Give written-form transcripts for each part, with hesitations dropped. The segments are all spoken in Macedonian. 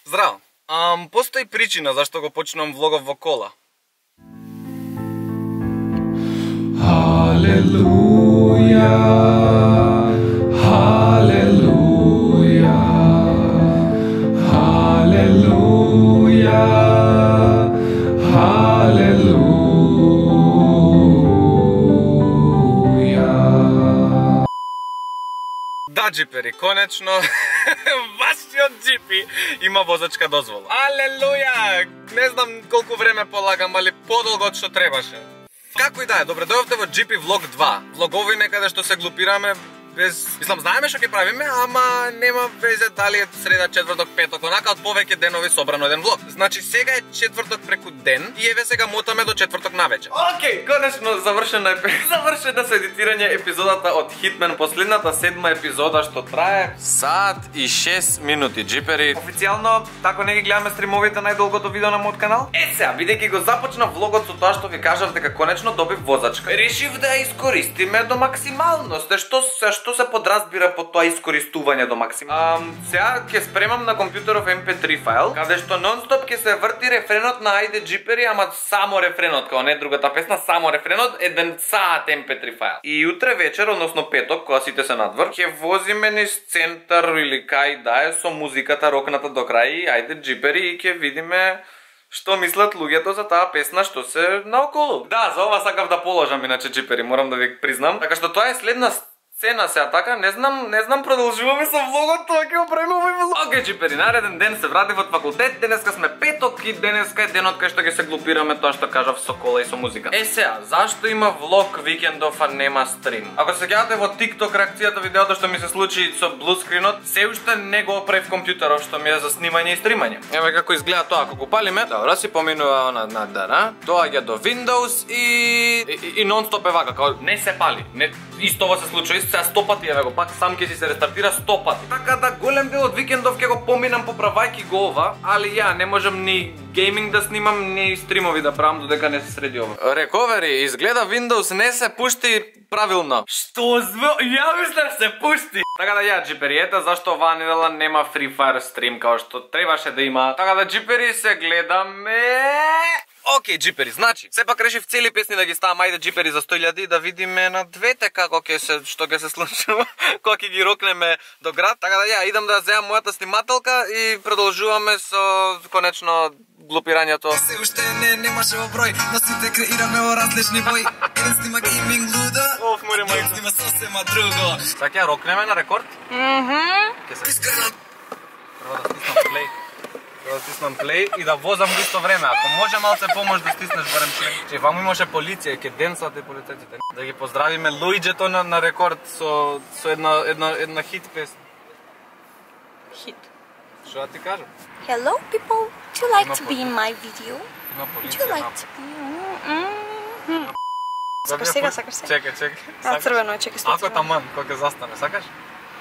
Здраво. Постои причина зашто го почнувам влогов во кола. Халелуја, халелуја, халелуја, халелуја. Да, джипери, конечно, вашиот джипи има возачка дозвола. Алелуја! Не знам колку време полагам, али подолго од што требаше. Како и да е, добре дојавте во GP Vlog 2. Влогови некаде што се глупираме без... Мислам, знаеме што ќе правиме, ама нема везе дали е среда, четврток, петок, онака од повеќе денови собрано еден влог. Значи сега е четврток преку ден и еве сега мотаме до четврток навечер. Океј, конечно завршена со едитирање епизодата од Hitman, последната 7 епизода што трае сат и 6 минути, джипери. Официјално тако не ги гледаме стримовите најдолгото видео на мојот канал. Сега, бидејќи го започна влогот со тоа што ви кажав дека конечно добив возачка, решив да ја искористиме до максималност. Што се подразбира под тоа искористување до максимум? Сега ќе спремам на компјутеров MP3 файл, каде што нон-стоп ќе се врти рефренот на Ајде Джипери, ама само рефренот, као не другата песна, само рефренот, еден саат MP3 файл. И утре вечер, односно петок, кога сите се надвор, ќе возиме низ центар или кај да е со музиката рокната до крај, Ајде Джипери, и ќе видиме што мислат луѓето за таа песна што се наоколу. Да, за ова сакав да положам иначе Джипери, морам да ви признам. Така што тоа е следна сцена сега, така, не знам, продолжуваме со влогот, тоа ќе го правиме овој влог. Океј, джипери, нареден ден се вратив од факултет, денеска сме петок и денеска е денот кај што ќе се глупираме тоа што кажав со кола и со музика. Сега, зашто има влог викендов, а нема стрим? Ако се сеќавате во TikTok реакцијата видеото што ми се случи со блускринот, се уште не го оправив компјутеров што ми е за снимање и стримање. Еве како изгледа тоа, ако го палиме, добро си поминува она надара, доаѓа до Windows и нон-стоп е вака, као не се пали, не истово се случува. Сега 100 пати, еве го, пак сам ќе си се рестартира 100 пати. Така да голем дел од викендов ќе го поминам поправајки го ова, али ја не можам ни гейминг да снимам, ни стримови да правам додека не се среди ова. Рековери, изгледа Windows не се пушти правилно. Што ја мислев се пушти. Така да ја, джипери, ета зашто оваа недела нема Free Fire стрим као што требаше да има. Така да, джипери, се гледаме. Океј, джипери, значи, сепак решив цели песни да ги ставам Ајде Джипери за 100.000 и да видиме на двете што ќе се случува кога ќе ги рокнеме до град. Така да ја, идам да земам мојата снимателка и продолжуваме со конечно глупирањето. Се уште немаше оброј, но сите креираме во различни бои. Еден снима гейминг луда, еден снима сосема друго. Сега ќе рокнеме на рекорд? Ќе се искрено. Треба да стиснам плей. Да стиснам плей и да возам во исто време. Ако може малце помош да стиснеш барем плей. Че ваму имаше полиција, ќе денсат и полицајците. Да ги поздравиме Луиджето на рекорд со една хит песна. Хит. Што да ти кажам? Hello people, would you like to be in my video? Има Would you полиција. like to be... Сакаш сега, сакаш сега? Чекај. А, црвено е, чекај, Ако таман, кога ќе застане, сакаш?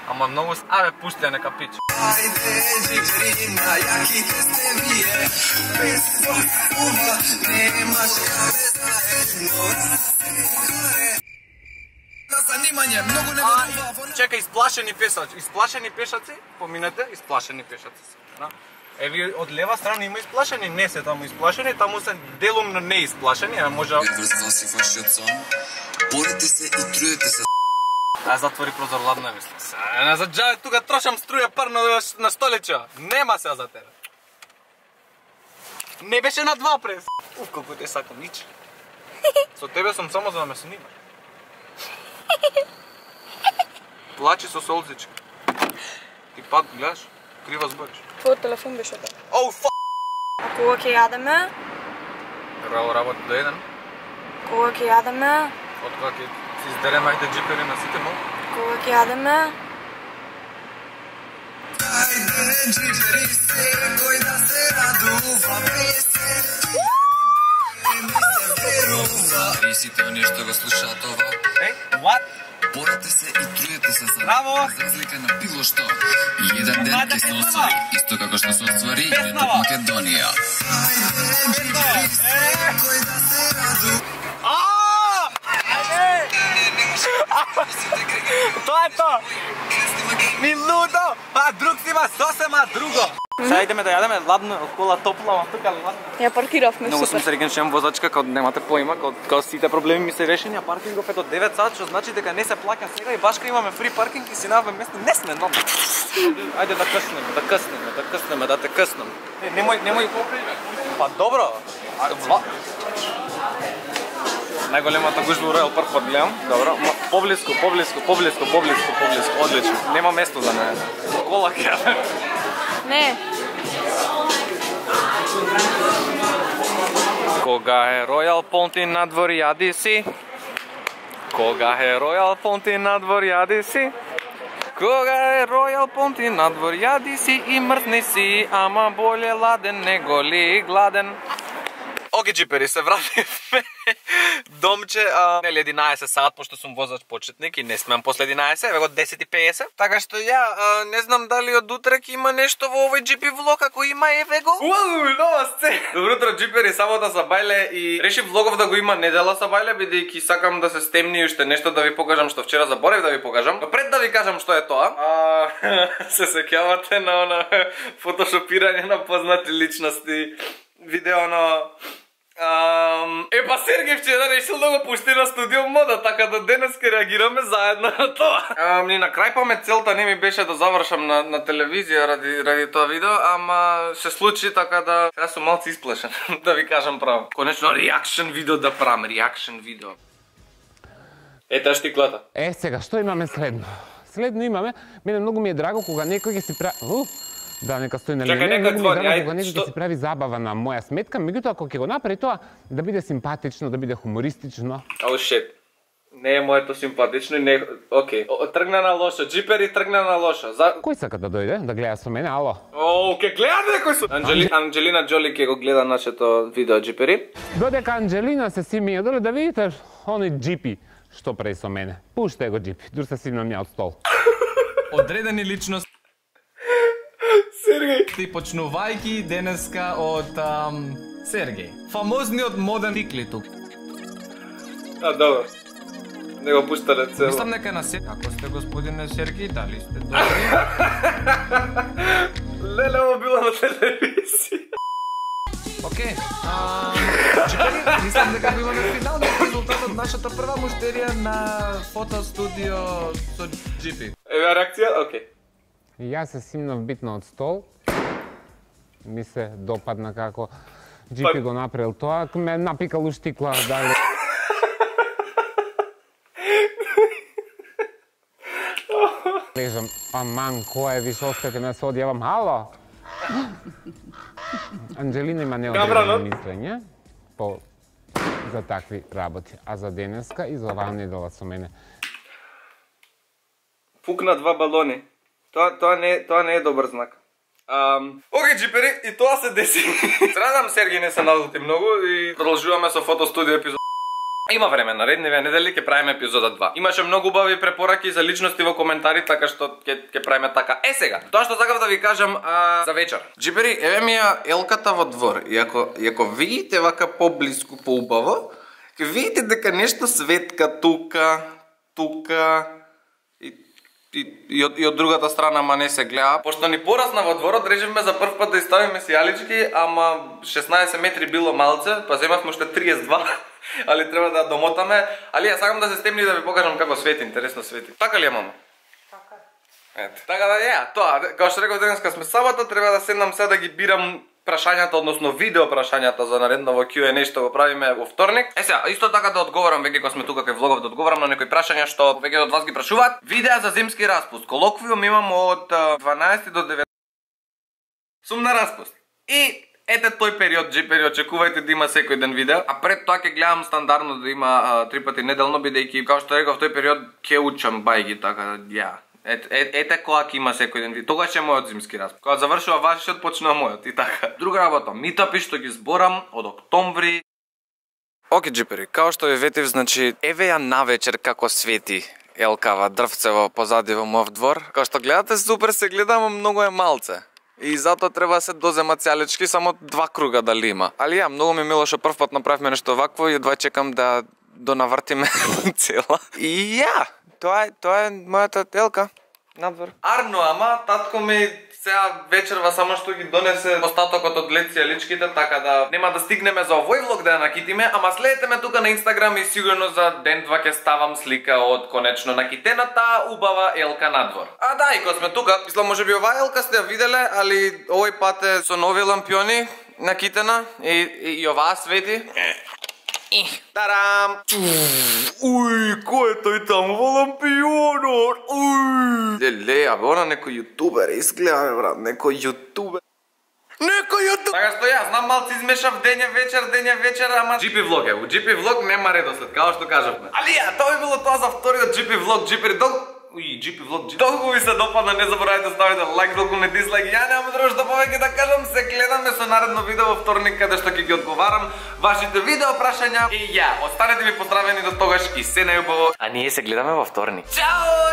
Ама многу... Абе, пушти ја нека пич. Ајде, джипери, на јаките сте вие, без сосува, немаш каде заедно, на занимање, многу не верува. Чекај, исплашени пешаци, поминете, исплашени пешаци. Еви, од лева страна има исплашени, не се таму исплашени, таму се делумно не исплашени, а може... Врзал си вашиот сон, борите се и труете се. Ај затвори прозор, ладно е мислам. Не заđаје тука трошам струја парно на столича. Нема се за тебе. Не беше на 2 прес. Колку те сакам, нич. Со тебе сум само за да ме снимаш. Плачи со солзичка. Ти пак гледаш, крива збориш. Твојот телефон беше така. Оу, ф***. А кога ќе јадеме? Работи до 1. Кога ќе јадеме? Од кога ќе си издереме Ајде Джипери на сите мол. Кога ќе јадеме? Ајде, джипери, секој да се радува, и сите оние што го слушаат ова. What? Борате се и труете се за Браво! разлика на било што. И еден ден ќе се освари, исто како што се освари и од Македонија. Ајде, джипери, секој да се радува. Тоа е тоа! Ми лудо! А друг си има сосема друго! Сега идеме да јадеме ладно, кола топла, ама тука ладно. Ја паркиравме, Многу супер. сум среќен што имам возачка, као немате поима, као сите проблеми ми се решени, а паркингов е до 9 сат, што значи дека не се плаќа сега и башка имаме фри паркинг и си најаваме место. Не сме нормално. Ајде да къснеме, да те къснем. Немој. Па добро. Најголемата гужва у Ројал Парк гледам. Добро. Поблиску. Одлично. Нема место за мене. Кола ќе. Не. Кога е Ројал Понти надвор јади си. Кога е Ројал Понти надвор јади си. Кога е Ројал Понти надвор јади си и мртни си, ама боле ладен него ли гладен. Оке, джипери, се вративме. Домче, нели 11 сат, пошто сум возач почетник и не смеам после 11, еве го 10:50. Така што не знам дали од утре ќе има нешто во овој GP влог, ако има, еве го. Нова сцена. Добро утро, джипери, сабота са бајле и решив влогов да го има недела са бајле, бидејќи сакам да се стемни уште нешто да ви покажам што вчера заборев да ви покажам. Но пред да ви кажам што е тоа, се сеќавате на она фотошопирање на познати личности, видео на па Сергеј вчера решил да го пушти на студио мода, така да денес ке реагираме заедно на тоа. Ни на крај памет целта не ми беше да завршам на телевизија ради тоа видео, ама се случи, така да сега сум малку исплашен, да ви кажам право. Конечно реакшн видео да правам, реакшн видео. Ета штиклата. Сега, што имаме следно? Следно имаме, мене многу ми е драго кога некој ќе си прави... Да, нека стои на линија. Чакај, нека Многу ми е звони, драго ајде, кога некој ќе си прави забава на моја сметка, меѓутоа ако ќе го направи тоа, да биде симпатично, да биде хумористично. Oh shit. Не е моето симпатично и не... Океј, тргна на лошо, джипери тргна на лошо. Кој сака да дојде, да гледа со мене, ало? Ке гледа некој со... Анджелина Джоли ќе го гледа нашето видео, джипери. Додека Анджелина се симија доле да видите оној джипи што прави со мене. Пуштај го джипи, дур се симнам ја од стол. Одредени личности Сергеј. и почнувајки денеска од Сергеј. Фамозниот моден тикли тук. Добро. Не го пуштале цело. Мислам дека на се... Ако сте господине Сергеј, дали сте добри? Леле, ово било на телевизија. Океј. Джипери, мислам дека го имаме финалниот резултат од нашата прва муштерија на фотостудио со Джипи. Еве реакција, окей. И јас се симнав битно од стол. Ми се допадна како джипи го направил тоа, ме напикал у штикла, дали... Лежам, аман, кој е, виш, остајте ме се одјавам, ало? Анджелина има неодредено мислење за такви работи, а за денеска и за оваа недела со мене. Пукна 2 балони. Тоа не е добар знак. Океј, джипери, и тоа се деси. Срадам Сергеј не се налути многу и продолжуваме со фотостудио епизод. Има време, наредниве недели ќе правиме епизода 2. Имаше многу убави препораки за личности во коментари, така што ќе правиме така. Сега, тоа што сакав да ви кажам за вечер. Джипери, еве ми ја елката во двор. И ако видите вака поблиску, поубаво, ќе видите дека нешто светка тука и од другата страна, ма не се гледа. Пошто ни порасна во дворот, решивме за прв пат да иставиме сијалички, ама 16 метри било малце, па земавме уште 32. Али треба да домотаме, али ја сакам да се стемни да ви покажам како свети, интересно свети. Така ли е, мамо? Така е. Ето. Така да тоа, како што реков денеска сме сабота, треба да седнам сега да ги бирам прашањата, односно видео прашањата за наредново Q&A што го правиме во вторник. Сега, исто така да одговорам, веќе кога сме тука кај влогов, да одговорам на некои прашања што веќе од вас ги прашуваат. Видеа за зимски распуст. Колоквиум имам од 12 до 19. Сум на распуст. И ете тој период, джипери, очекувајте да има секој ден видео, а пред тоа ќе гледам стандардно да има 3 пати неделно, бидејќи, како што реков, тој период ќе учам бајги, така да, ете кога ќе има секој ден видео. Тогаш е мојот зимски распуст. Кога завршува вашиот, почнува мојот и така. Друга работа, митапи што ги зборам од октомври. Оке, джипери, како што ви ветив, значи, еве ја навечер како свети елкава дрвцево позади во мојот двор. Како што гледате, супер се гледам, многу е малце. И затоа треба да се дозема цјалички, само 2 круга дали има. Али многу ми мило што прв пат направивме нешто вакво и едва чекам да донавртиме цела. И тоа е мојата елка надвор. Арно, ама татко ми Сега вечерва само што ги донесе остатокот од лечките, така да нема да стигнеме за овој влог да ја накитиме, ама следете ме тука на Инстаграм и сигурно за ден-два ќе ставам слика од конечно накитената убава елка надвор. А да, и кога сме тука, мислам можеби оваа елка сте ја виделе, али овој пат е со нови лампиони накитена и оваа свети. Тарам! Уј, кој е тој таму во лампионот? Уј! Леле, абе, она некој јутубер изгледа, бе, брат, некој јутубер. Така што јас знам малци измешав дења вечер, ама GP влог е. У GP влог нема редослед, као што кажавме. Али ја, тоа е било тоа за вториот GP влог, GP влог. Долго ви се допадна, не заборавајте да ставите лайк, долго не дислайк. Ја немам друго што повеќе да кажам, се гледаме со наредно видео во вторник каде што ќе ги одговарам вашите видео прашања. И ја, останете ми поздравени до тогаш и се најубаво. А ние се гледаме во вторник. Чао!